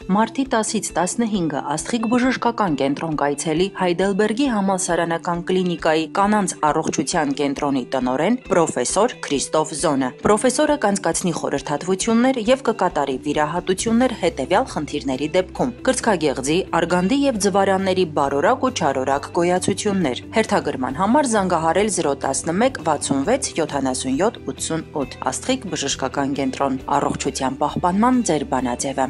Մարտի 10-ից 15-ը Աստղիկ բժշկական կենտրոն կայցելի Հայդելբերգի համալսարանական կլինիկայի կանանց առողջության կենտրոնի տնօրեն պրոֆեսոր Քրիստոֆ Զոնը։ Պրոֆեսորը կանցկացնի խորհրդատվություններ եւ կկատարի վիրահատություններ հետեւյալ խնդիրների դեպքում՝ կրծքագեղձի, արգանդի եւ ձվարանների բարորակ ու չարորակ գոյացություններ։ Հերթագրման համար զանգահարել 011 66 77 88 Աստղիկ բժշկական կենտրոն։ Առողջության պահպանման ձեր բանաձևը։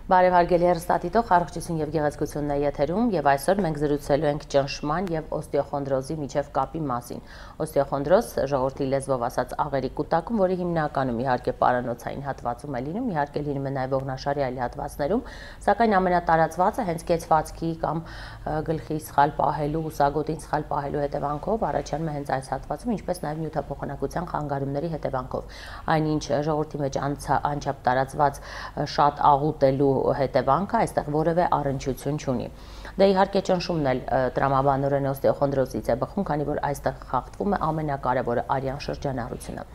Բարև հարգելի հեռուստադիտող, առողջություն եւ գեղեցկությունն է եթերում եւ այսօր մենք զրուցելու ենք ճնշման եւ օստեոխոնդրոզի միջև կապի մասին։ Օստեոխոնդրոզ ժողովրդի լեզվով ասած աղերի կուտակում, որը հիմնականում իհարկե պարանոցային հատվածում է լինում, իհարկե լինում է նաեւ ողնաշարի այլ հատվածներում, սակայն ամենատարածվածը հենց կեցվածքի կամ գլխի սխալ պահելու, ուսագոտին սխալ պահելու հետևանքով առաջանում է հենց այս հատվածում, ինչպես նաեւ նյութափոխանակության խանգարումների հետևանքով։ Այնինչ ժողովրդի մեջ անչափ տարածված շատ աղուտելու հետևանքը այստեղ որևէ առնչություն չունի։ Դե իհարկե ճնշումն էլ տրամաբանորեն օստեոխոնդրոզից է բխում, քանի որ այստեղ խախտվում է ամենակարևորը արյան շրջանառությունը։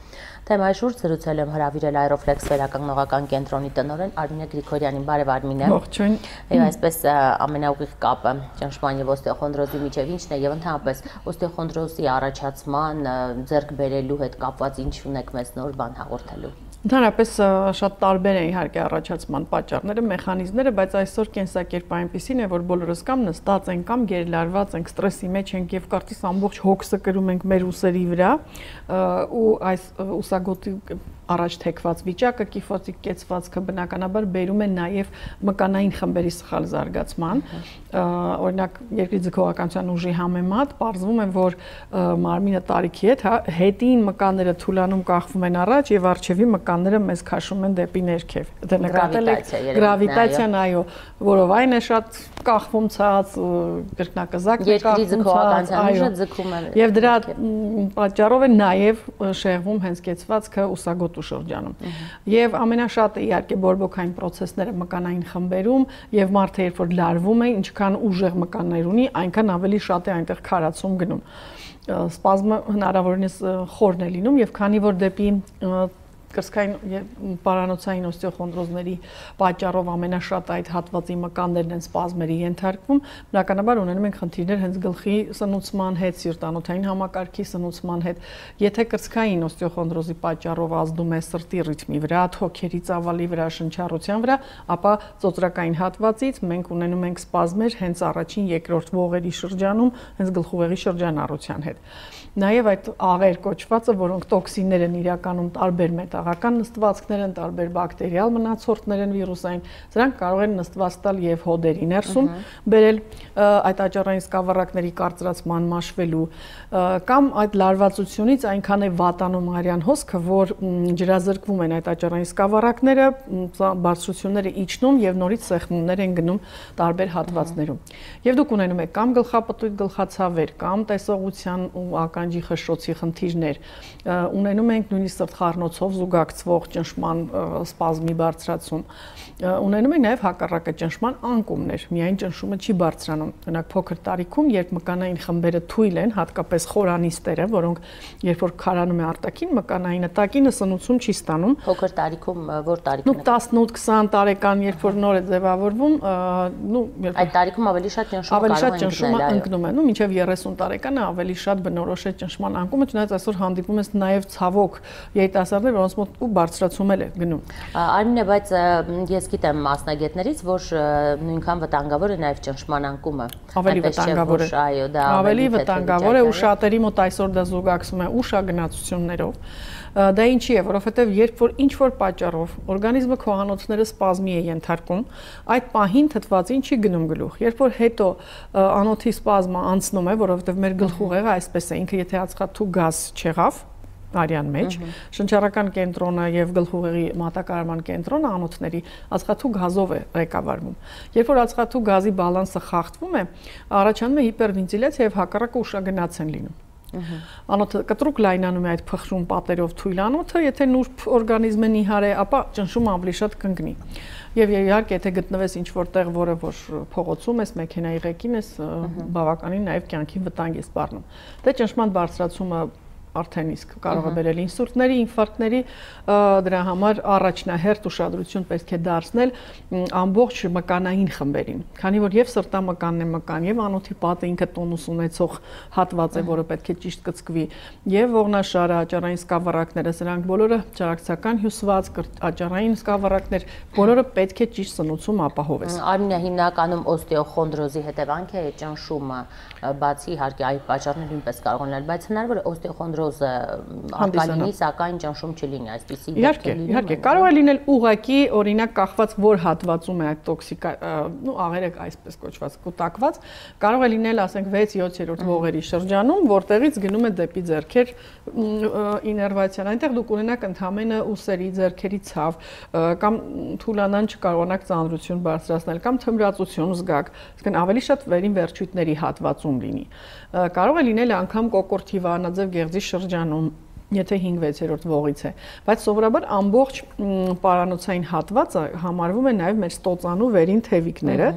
Թեմայի շուրջ զրուցել եմ հրավիրել Aeroflex վերականգնողական կենտրոնի տնօրեն Արմինե Գրիգորյանին։ Բարև Արմինե։ Ողջույն։ Եվ այսպես ամենաուղիղ կապը ճնշման եւ օստեոխոնդրոզի միջև ինչն է եւ ընդհանրապես օստեոխոնդրոզի առաջացման ձեռք բերելու հետ կապված ինչ ունեք մեզ նոր բան հաղորդելու։ Ընդհանրապես շատ տարբեր է իհարկե առաջացման պատճառները, մեխանիզմները, բայց այսօր կենսակերպը այնպեսին է, որ բոլորս կամ նստած ենք, կամ գերլարված ենք, ստրեսի մեջ ենք եւ կարծես ամբողջ հոգսը կրում ենք մեր ուսերի վրա, ու այս ուսագոտի առաջ թեքված վիճակը, կիֆոտիկ կեցվածքը բնականաբար բերում է նաև մկանային խմբերի սխալ զարգացման։ Օրինակ, երկրի ձգողականության ուժի համեմատ պարզվում է, որ մարմինը տարիքի հետին մկանները թուլանում կախվում են առաջ եւ առջևի մկանները մեզ քաշում են դեպի ներքև։ Դե նկատել եք գրավիտացիան, այո, որով այն է շատ կախվում ցած, կրկնակզակն է կախվում ցած, այո, ձգում է։ Եվ դրա պատճառով է նաև շեղվում հենց կեցվածքը ուսագոտու շրջանում։ Եվ ամենաշատը իհարկե բորբոքային process-ները մկանային խմբերում եւ մարդը երբ որ լարվում է, ինչքան ուժեղ մկաններ ունի, այնքան ավելի շատ է այնտեղ քարացում գնում։ Սպազմը հնարավորինս խորն է լինում եւ քանի որ դեպի կրծքային պարանոցային օստեոխոնդրոզների պատճառով ամենաշատ այդ հատվածի մկաններն են սպազմերի ենթարկվում, բնականաբար ունենում ենք խնդիրներ հենց գլխի սնուցման հետ, սիրտանոթային համակարգի սնուցման հետ։ Եթե կրծքային օստեոխոնդրոզի պատճառով ազդում է սրտի ռիթմի վրա, թոքերի ծավալի վրա, շնչառության վրա, ապա ծոծրակային հատվածից մենք ունենում ենք սպազմեր հենց առաջին, երկրորդ ողերի շրջանում, հենց գլխուղեղի շրջանառության հետ։ Նաև այդ աղեր կոչվածը, որոնք տոքսիններ են իրականում տարբեր մետաղական նստվածքներ են, տարբեր բակտերիալ մնացորդներ են վիրուսային, սրանք կարող են նստված տալ եւ հոդերի ներսում բերել այդ աճառային սկավառակների կարծրացման մաշվելու կամ այդ լարվածությունից այնքան է վատանում արյան հոսքը, որ ջրազրկվում են այդ աճառային սկավառակները, բարձրությունները իջնում եւ նորից սեղմումներ են գնում տարբեր հատվածներում։ Եվ դուք ունենում եք կամ գլխապտույտ գլխացավեր, կամ տեսողության ու ականջի խշշոցի խնդիրներ, ունենում ենք նույնիսկ սրտխառնոցով զուգակցվող ճնշման սպազմի բարձրացում, ունենում ենք նաև հակառակը ճնշման անկումներ, միայն ճնշումը չի բարձրանում։ Օրինակ փոքր տարիքում, երբ մկանային խմբերը թույլ են, հատկապես խորանիստերը, որոնք երբ որ քարանում է արտաքին մկանայինը, տակինը սնուցում չի ստանում։ Փոքր տարիքում որ տարիքում։ 18-20 տարեկան, երբ որ նոր է ձևավորվում, այդ տարիքում ավելի շատ ճնշումը ընկնում է, մինչև 30 տարեկանը ավելի շատ բնորոշ է ճնշման անկումը, չնայած այսօր հանդիպում ես նաև ցավոք երիտասարդներ, որոնց մոտ ու բարձրացում էլ է գնում։ Արմինե, բայց ես գիտեմ մասնագետներից, որ նույնքան վտանգավոր է նաև ճնշման անկումը։ Ավելի վտանգավոր է։ Այո, դա ավելի վտանգավոր է ու շատերի մոտ այսօր դա զուգակցվում է ուշագնացություններով։ Դա ինչի է, որովհետև երբ որ ինչ որ պատճառով օրգանիզմը քողանոցները սպազմի է ենթարկում, այդ պահին թթվածին չի գնում գլուխ։ Երբ որ հետո անոթի սպազմը անցնում է, որովհետև մեր գլխուղեղը այսպես է, ինքը եթե ածխաթու գազ չեղավ արյան մեջ, շնչառական կենտրոնը եւ գլխուղեղի մատակարարման կենտրոնը անոթների ածխաթու գազով է ղեկավարվում։ Երբ որ ածխաթու գազի բալանսը խախտվում է, առաջանում է հիպերվենտիլյացիա եւ հակառակը ուշագնաց են լինում։ Անոթը կտրուկ լայնանում է այդ փխրուն պատերով թույլ անոթը, եթե նուրբ օրգանիզմը նիհար է, ապա ճնշումը ավելի շատ կընկնի։ Եվ իհարկե, եթե գտնվես ինչ-որտեղ, որը որ փողոցում ես, մեքենայի ղեկին ես, բավականին նաև կյանքի վտանգ է սպառնում։ Դե ճնշման բարձրացումը արդեն իսկ կարող է բերել ինսուլտների, ինֆարկտների, դրա համար առաջնահերթ ուշադրություն պետք է դարձնել ամբողջ մկանային խմբերին, քանի որ եւ սրտամկանն է մկան, եւ անոթի պատը ինքը տոնուս ունեցող հատված է, որը պետք է ճիշտ կծկվի, եւ ողնաշարը, աճառային սկավառակները, սրանք բոլորը ճարակցական հյուսված, աճառային սկավառակներ, բոլորը պետք է ճիշտ սնուցում ապահովես։ Արմինե, հիմնականում օստեոխոնդրոզի հետևանք է ճնշումը, բացի իհարկե այլ պատճառներ նույնպես կարող են լինել, բայց հնարավոր է օստեոխոնդրոզը արկալինի, սակայն ճնշում չլինի, այսպիսի դեպք է լինում։ Իհարկե, կարող է լինել ուղղակի, օրինակ կախված որ հատվածում է այդ տոքսիկ, աղերը այսպես կոչված կուտակված, կարող է լինել, ասենք 6-7-րդ ողերի շրջանում, որտեղից գնում է դեպի ձեռքեր իներվացիան, այնտեղ դուք ունենաք ընդհանրապես ուսերի, ձեռքերի ցավ, կամ թուլանան չկարողանաք ծանրություն բարձրացնել, կամ թմրածություն զգաք, այսինքն ավելի շատ վերին վերջույթների հատվածում լինի։ Կարող է լինել անգամ կոկորտի վահանաձև գեղձի շրջանում, եթե 5-6-րդ ողից է, բայց սովորաբար ամբողջ պարանոցային հատվածը համարվում է նաև մեր ստոծանու վերին թևիկները,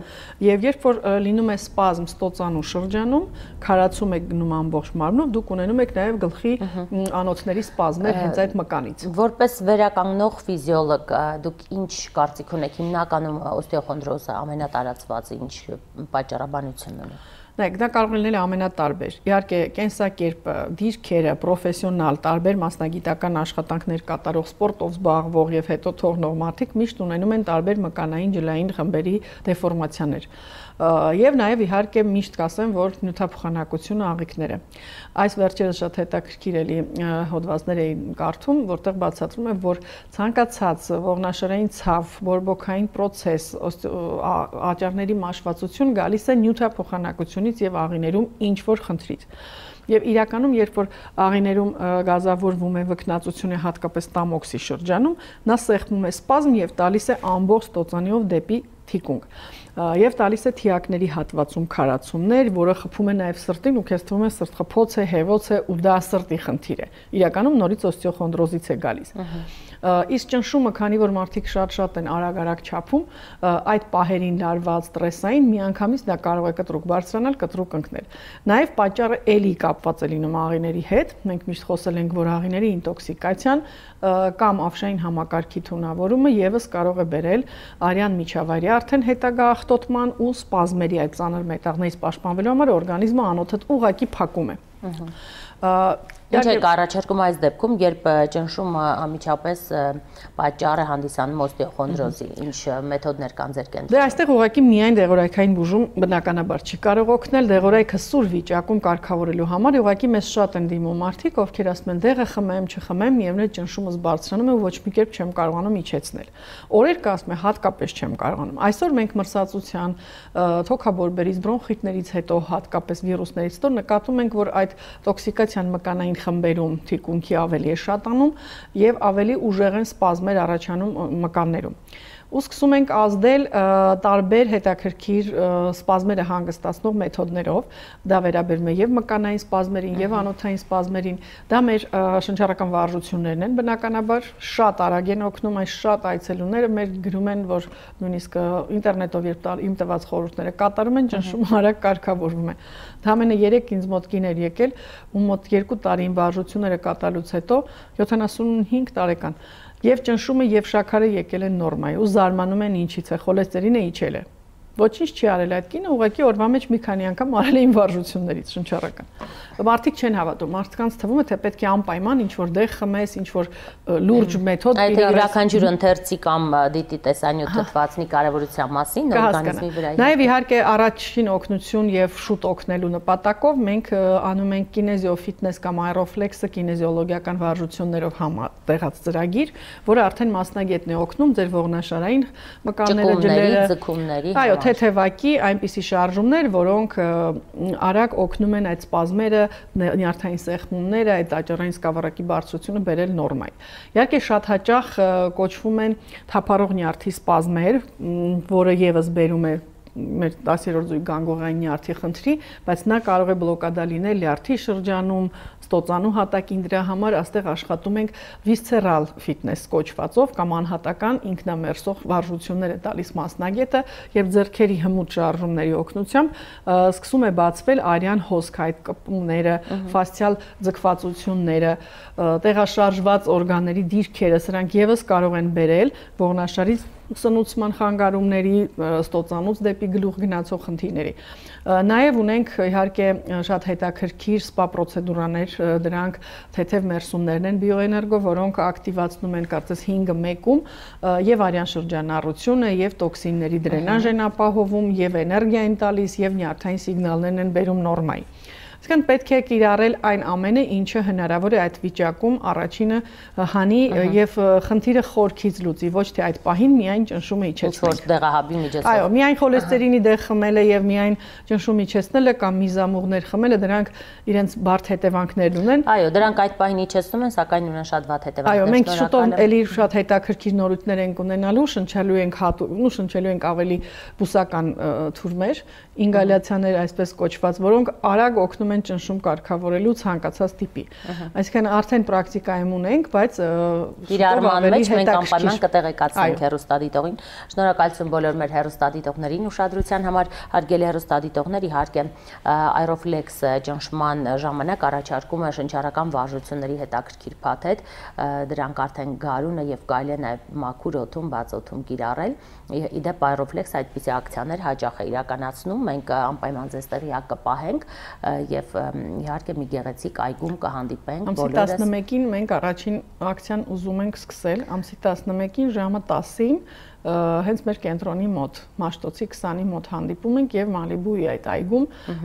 եւ երբ որ լինում է սպազմ ստոծանու շրջանում, քարացում է գնում ամբողջ մարմնով, դուք ունենում եք նաև գլխի անոթների սպազմեր հենց այդ մկանից։ Որպես վերականգնող ֆիզիոլոգ, դուք ինչ կարծիք ունեք, հիմնականում օստեոխոնդրոզը ամենատարածված ինչ պատճառաբանությունն ունի։ Նայեք, դա կարող է լինել ամենատարբեր։ Իհարկե, կենսակերպը, դիրքերը, պրոֆեսիոնալ, տարբեր մասնագիտական աշխատանքներ կատարող, սպորտով զբաղվող եւ հետո թողնող մարդիկ միշտ ունենում են տարբեր մկանային ջլային խմբերի դեֆորմացիաներ։ Եվ նաև իհարկե միշտ կասեմ, որ նյութափոխանակությունը աղիքները։ Այս վերջերս շատ հետաքրքիր էլի հոդվածներ էին կարդում, որտեղ բացատրում է, որ ցանկացած ողնաշարային ցավ, բորբոքային process, աճառների մաշվածություն գալիս է նյութափոխանակությունից եւ աղիներում ինչ որ խնդրից։ Եվ իրականում, երբ որ աղիներում գազավորվում է վքնածությունը հատկապես տամոքսի շրջանում, նա սեղմում է սպազմ եւ տալիս է ամբողջ ստոծանիով դեպի թիկունք։ Եվ տալիս է թիակների հատվածում քարացումներ, որը խփում է նաև սրտին ու քեզ թվում է սրտխփոց է, հեվոց է ու դա սրտի խնդիր է։ Իրականում նորից օստեոխոնդրոզից է գալիս։ Իսկ ճնշումը, քանի որ մարդիկ շատ են արագ չափում, այդ պահերին լարված ստրեսային միանգամից դա կարող է կտրուկ բարձրանալ, կտրուկ ընկնել։ Նաև պատճառը էլի կապված է լինում աղիների հետ։ Մենք միշտ խոսել ենք, որ աղիների ինտոքսիկացիան կամ ավշային համակարգի թունավորումը եւս կարող է բերել արյան միջավայրի արդեն հետագա ախտոտման ու սպազմերի այդ ծանր մետաղներից պաշտպանվելու համար օրգանիզմը անոթը ուղղակի փակում է։ Ինչ է առաջարկում այս դեպքում, երբ ճնշումը անմիջապես պատճառ է հանդիսանում օստեոխոնդրոզի, ինչ մեթոդներ կան ձեր կենտրոնում։ Դե այստեղ ուղղակի միայն դեղորայքային բուժում բնականաբար չի կարող օգնել, դեղորայքը սուր վիճակում կարգավորելու համար ուղղակի մեզ շատ են դիմում մարդիկ, ովքեր ասում են դեղը խմեմ, չխմեմ, միևնույն ճնշումս բարձրանում է ու ոչ մի կերպ չեմ կարողանում իջեցնել։ Օրեր կա ասում է հատկապես չեմ կարողանում։ Այսօր մենք մրսածության, թոքաբորբերից, բրոնխիտներից հետո հատկապես վիրուսներից հետո նկատում ենք, որ այդ տոքսիկացիան մկանային խմբերում թիկունքի ավելի է շատանում եւ ավելի ուժեղ են սպազմեր առաջանում մկաններում։ Ու սկսում ենք ազդել տարբեր հետաքրքիր սպազմերը հանգստացնող մեթոդներով, դա վերաբերում է եւ մկանային սպազմերին եւ անոթային սպազմերին, դա մեր շնչառական վարժություններն են, բնականաբար շատ արագ են օգնում, այս շատ այցելուները մեր գրում են, որ նույնիսկ ինտերնետով երբ իմ տված խորհուրդները կատարում են, ճնշումը արագ կարգավորվում է։ Դամենը 3 ինձ մոտ կիներ եկել, ու մոտ 2 տարին վարժությունները կատարելուց հետո 75 տարեկան Եվ ճնշումը եւ շաքարը եկել են նորմայի ու զարմանում են ինչից է, խոլեստերինը իջել է։ Ոչինչ չի արել այդ կինը, ուղղակի օրվա մեջ մի քանի անգամ արել էին վարժություններից շնչառական։ Մարդիկ չեն հավատում, մարդկանց թվում է թե պետք է անպայման ինչ որ դեղ խմես, ինչ որ լուրջ մեթոդ իրարես։ Այդ յուրաքանչյուր ընթերցի կամ դիտի տեսանյութ թվացնի կարևորության մասին օրգանիզմի վրա։ Նաև իհարկե առաջին օգնություն եւ շուտ օգնելու նպատակով մենք անում ենք կինեզիոֆիթնես կամ աերոֆլեքսը կինեզիոլոգիական վարժություններով համատեղած ծրագիր, որը արդեն մասնագետն է օգնում ձեր ողնաշարային մկանները, ջլերը, ձգումների, այո, թեթևակի այնպիսի շարժումներ, որոնք արագ օգնում են այդ սպազմերը, նյարդային սեղմումները, այդ աճառային սկավառակի բարձրությունը բերել նորմայի։ Իհարկե շատ հաճախ կոչվում են թափառող նյարդի սպազմեր, որը եւս բերում է մեր 10-րդ զույգ գանգողային նյարդի խնդրի, բայց նա կարող է բլոկադա լինել լյարդի շրջանում, ստոծանու հատակին, դրա համար այստեղ աշխատում ենք visceral fitness կոչվածով կամ անհատական ինքնամերսող վարժություններ է տալիս մասնագետը եւ ձեռքերի հմուտ շարժումների օգնությամբ սկսում է բացվել արյան հոսք, այդ կպումները, ֆասցիալ ձգվածությունները, տեղաշարժված օրգանների դիրքերը, սրանք եւս կարող են բերել ողնաշարից սնուցման խանգարումների, ստոծանուց դեպի գլուխ գնացող խնդիրների։ Նաև ունենք իհարկե շատ հետաքրքիր սպա պրոցեդուրաներ, դրանք թեթև մերսումներն են բիոէներգո, որոնք ակտիվացնում են կարծես 5-ը 1-ում եւ արյան շրջանառությունը, եւ տոքսինների դրենաժ են ապահովում, եւ էներգիա են տալիս, եւ նյարդային սիգնալներն են բերում նորմայի։ Իսկան պետք է կիրառել այն ամենը, ինչը հնարավոր է այդ վիճակում առաջինը հանի եւ խնդիրը խորքից լուծի, ոչ թե այդ պահին միայն ճնշումը իջեցնել։ Դեղահաբի միջոցով։ Այո, միայն խոլեստերինի դեղ խմելը եւ միայն ճնշում իջեցնելը կամ միզամուղներ խմելը դրանք իրենց բարդ հետևանքներ ունեն։ Այո, դրանք այդ պահին իջեցնում են, սակայն ունեն շատ վատ հետևանքներ։ Այո, մենք շուտով էլի շատ հետաքրքիր նորույթներ ենք ունենալու, շնչելու ենք ավելի բուսական թուրմեր, ինգալյացիաներ այսպես կոչված, որոնք արագ օգնում են ճնշում կարգավորելու ցանկացած տիպի։ Այսինքն արդեն պրակտիկայում ունենք, բայց իրարման մեջ մենք անպայման կտեղեկացնենք հեռուստադիտողին։ Շնորհակալություն բոլոր մեր հեռուստադիտողներին ուշադրության համար, հարգելի հեռուստադիտողներ, իհարկե Aeroflex ճնշման ժամանակ առաջարկում է շնչառական վարժությունների հետաքրքիր փաթեթ, դրանք արդեն գարունը եւ կարելի է նաեւ մաքուր օդում, բաց օդում կիրառել։ Իդեպ Aeroflex այդպիսի ակցիաներ հաճախ է իրականացնում, մենք անպայման ձեզ տեղյակ կպահենք եւ իհարկե մի գեղեցիկ այգում կհանդիպենք բոլորս։ Ամսի 11-ին մենք առաջին ակցիան ուզում ենք սկսել, ամսի 11-ին ժամը 10-ին հենց մեր կենտրոնի մոտ, Մաշտոցի 20-ի մոտ հանդիպում ենք եւ Մալիբուի այդ այգում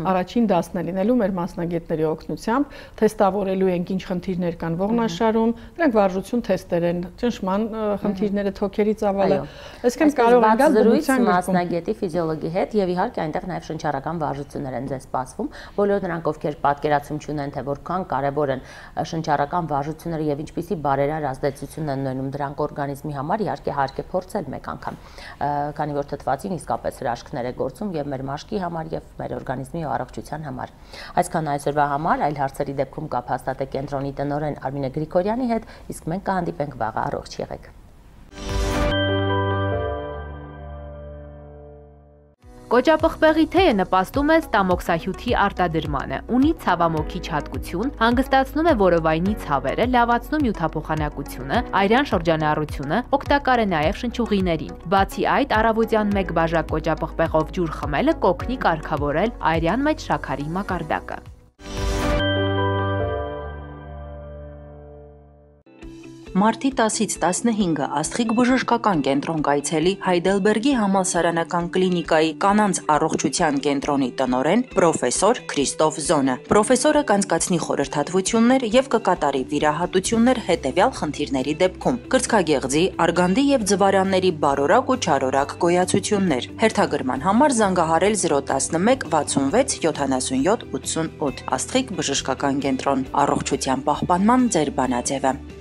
առաջին դասն է լինելու մեր մասնագետների օգնությամբ, թեստավորելու ենք ինչ խնդիրներ կան ողնաշարում, դրանք վարժություն թեստեր են, ճնշման խնդիրները, թոքերի ծավալը, այսինքն կարող են գալ բնության մասնագետի ֆիզիոլոգի հետ եւ իհարկե այնտեղ նաեւ շնչառական վարժություններ են ձեզ սպասվում, բոլոր նրանք ովքեր պատկերացում չունեն թե որքան կարեւոր են շնչառական վարժությունները եւ ինչպիսի բարերար ազդեցություն են ունենում դրանք օրգանիզմի համար, իհարկե հարկ է փորձել մեկ անգամ, քանի որ թթվածին իսկապես հրաշքներ է գործում եւ մեր մաշկի համար եւ մեր օրգանիզմի առողջության համար։ Այսքան այսօրվա համար, այլ հարցերի դեպքում կապ հաստատեք կենտրոնի տնօրեն Արմինե Գրիգորյանի հետ, իսկ մենք կհանդիպենք վաղը, առողջ եղեք։ Կոճապղպեղի թեյը նպաստում է ստամոքսահյութի արտադրմանը, ունի ցավամոքիչ հատկություն, հանգստացնում է որովայնի ցավերը, լավացնում նյութափոխանակությունը, արյան շրջանառությունը, օգտակար է նաև շնչուղիներին։ Բացի այդ, առավոտյան 1 բաժակ կոճապղպեղով ջուր խմելը կօգնի կարգավորել արյան մեջ շաքարի մակարդակը։ Մարտի 10-ից 15-ը Աստղիկ բժշկական կենտրոն կայցելի Հայդելբերգի համալսարանական կլինիկայի կանանց առողջության կենտրոնի տնօրեն պրոֆեսոր Քրիստոֆ Զոնը։ Պրոֆեսորը կանցկացնի խորհրդատվություններ եւ կկատարի վիրահատություններ հետեւյալ խնդիրների դեպքում՝ կրծքագեղձի, արգանդի եւ ձվարանների բարորակ ու չարորակ գոյացություններ։ Հերթագրման համար զանգահարել 011 66 77 88։ Աստղիկ բժշկական կենտրոն, առողջության պահպանման ձեր բանաձևը։